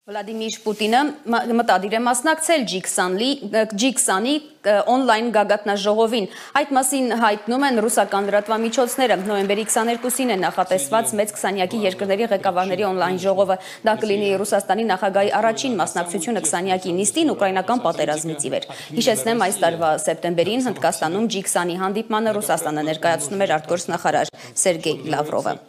Վլադիմիր Պուտինը մտադիր է մասնակցել G20-ի օնլայն գագաթնաժողովին։ Այդ մասին հայտնում են ռուսական լրատվամիջոցները։ Նոյեմբերի 22-ին է նախատեսված մեծ 20-յակի երկրների ղեկավարների օնլայն ժողովը։ Դա կլինի Ռուսաստանի նախագահի առաջին մասնակցությունը 20-յակի նիստին ուկրաինական պատերազմից ի վեր։ Հիշեցնեմ, այս տարվա սեպտեմբերին Հնդկաստանում G20-ի հանդիպմանը Ռուսաստանը ներկայացնում էր արտգործնախարար Սերգեյ Լավրովը։